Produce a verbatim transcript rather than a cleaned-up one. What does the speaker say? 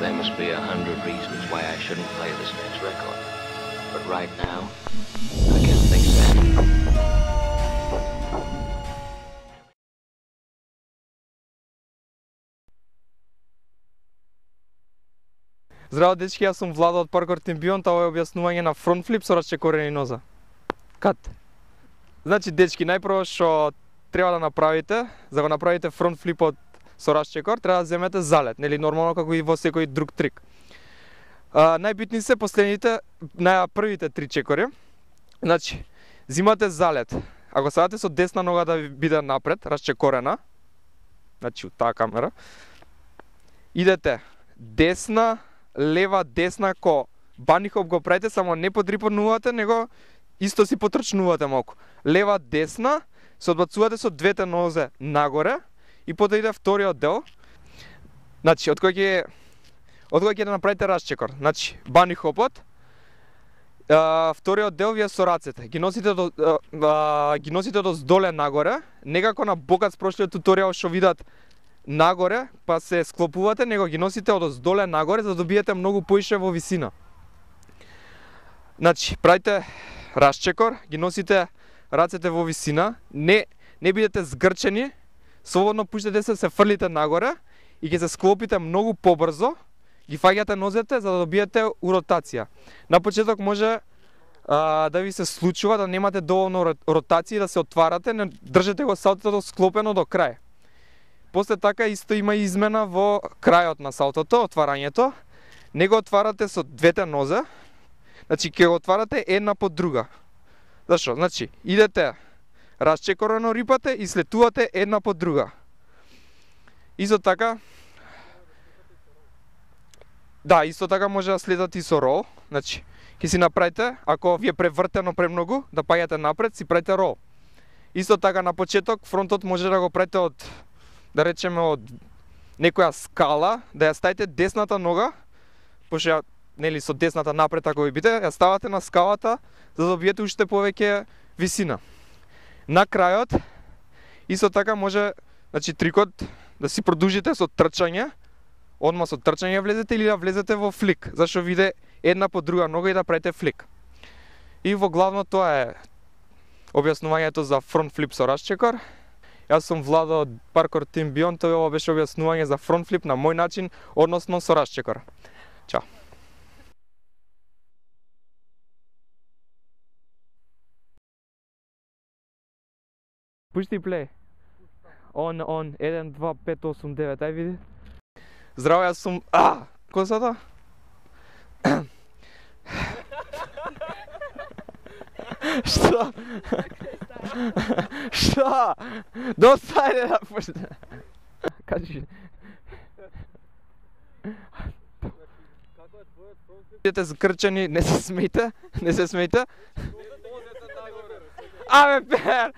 there must be a hundred reasons why I shouldn't play this next record. But right now, I can't think so. Здраво дечки, јас сум Владо од Parkour Team Beyond, ова е објаснување на фронт флип со расчекорени ноза. Кат. Значи дечки, најпрво што треба да направите, за да го направите фронт флипот со расчекор, треба да земете залет, нели нормално како и во секој друг трик. А, најбитни се последните, на првите три чекори. Значи, зимате залет. Ако сакате со десна нога да ви биде напред, расчекорена, значи од таа камера, идете десна, лева, десна, ко бани хоп го правите, само не подрипнувате, него исто си потрчнувате малку. Лева, десна, се одбацувате со двете нозе нагоре и потоа иде вториот дел. Значи, од кој ќе од кој ќе да направите расчекор. Значи, бани хопот. А, вториот дел вие со рацете. Ги носите до а, ги носите до здоле нагоре, некако на бокат прошлиот туторијал што видат нагоре, па се склопувате, него ги носите од здоле нагоре за да добиете многу поише во висина. Значи, правите расчекор, ги носите рацете во висина, не не бидете згрчени, слободно пуштете се, се фрлите нагоре и ќе се склопите многу побрзо, ги фаќате нозете за да добиете у ротација. На почеток може а, да ви се случува да немате доволно ротација да се отварате, не држете го салтото склопено до крај. После така исто има измена во крајот на салтото, отварањето. Не го отварате со двете нозе, значи ќе го отварате една по друга. Зашо? Значи, идете расчекорено рипате и слетувате една по друга. Исто така, да, исто така може да слетате и со рол. Значи, ќе си направите, ако ви е превртено премногу, да паѓате напред, си правите рол. Исто така на почеток, фронтот може да го правите од, да речеме, од некоја скала, да ја ставите десната нога, пошто ја, нели, со десната напред ако ви биде, ја ставате на скалата за да добиете уште повеќе висина. На крајот, исто така може, значи трикот да си продолжите со трчање, одма со трчање влезете или да влезете во флик, зашто виде една по друга нога и да правите флик. И во главно тоа е објаснувањето за фронт флип со расчекор. Јас сум Владо од Parkour Team Beyond, ова беше објаснување за фронт флип на мој начин, односно со расчекор. Чао. Пушти плей. Он, он, еден, два, пет, осум, девет, ај види. Здраво, јас сум... А! Косата? Што? Што? Достајде да пушти. Кажи. Бидете згрчени, не се смејте, не се смејте. Абе, пер!